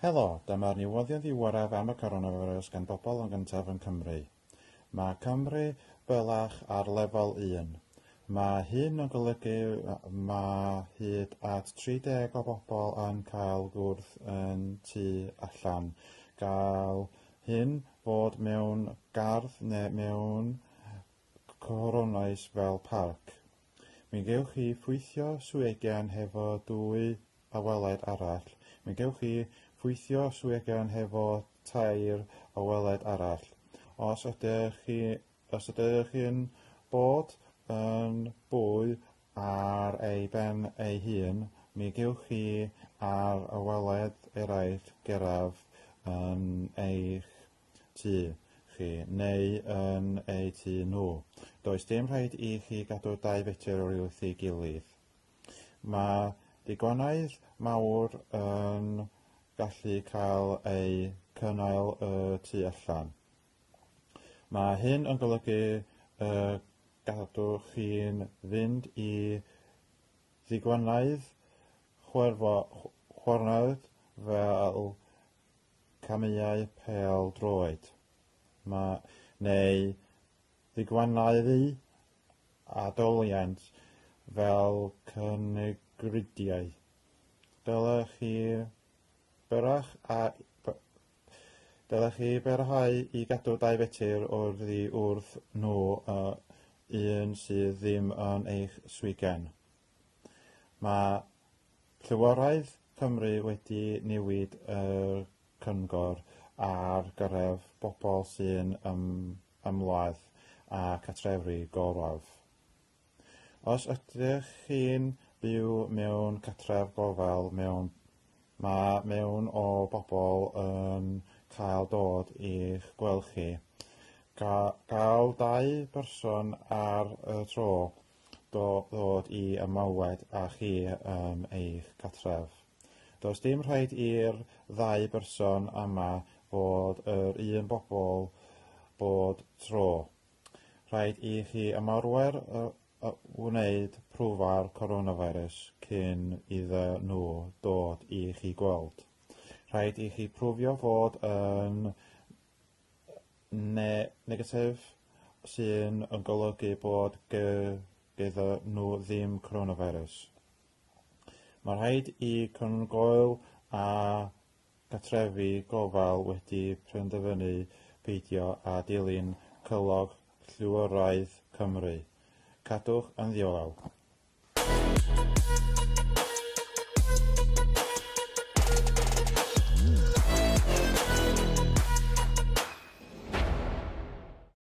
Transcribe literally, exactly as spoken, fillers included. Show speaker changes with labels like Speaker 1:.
Speaker 1: Helo, dyma'r newyddion ddiweddaraf am y coronavirus gan Bobl yn Gyntaf yn Cymru. Mae Cymru bellach ar lefel un. Mae hyn yn golygu mae hyd at tri deg o bobl yn cael gwrdd yn tu allan. Gall hyn fod mewn gardd neu mewn cornais fel parc. Mi gewch chi ffwythio swigen hefo dwy aweled arall. Mi gewch chi ffwythio swigen hefo tair aweled arall. Os ydych chi, os ydych chi'n bod yn bwy ar ei ben ei hun, mi gewch chi a'r aweled eraill gyrraedd yn eich tŷ chi neu yn eu tŷ nhw. Does dim rhaid i chi gadw dau fetr wrth ei gilydd. Mae digwyddiadau mawr yn gallu cael eu cynnal y tu allan. Mae hyn yn golygu y gallwch chi'n fynd i ddigwyddiad chwaraeon fel camau pêl-droed neu ddigwyddiadau adoliant fel cyngreiriau. Dylech chi byrach a dylech chi barhau i gadw dau fetr oddi wrth nhw un sydd ddim yn eich swigen. Mae Llywodraeth Cymru wedi newid y cyngor ar gyfer bobl sy'n ymweld â cartrefi gofal. Os ydych chi'n byw mewn cartref gofal, mewn, mae mewn o bobl yn cael dod i'ch gweld chi. Gall dau berson ar y tro ddod i ymweld â chi yn eich cartref. Does dim rhaid i'r ddau berson yma fod yr un bobl bob tro. Rhaid i chi ymarfer wneud profi'r coronavirus cyn iddyn nhw dod i chi gweld. Rhaid i chi profio fod yn ne negatif, sy'n yn golygu bod gyda nhw ddim coronavirus. Mae rhaid i cynghorau a cartrefi gofal wedi penderfynu peidio â dilyn cyngor Llywodraeth Cymru. Cadwch yn ddiogel.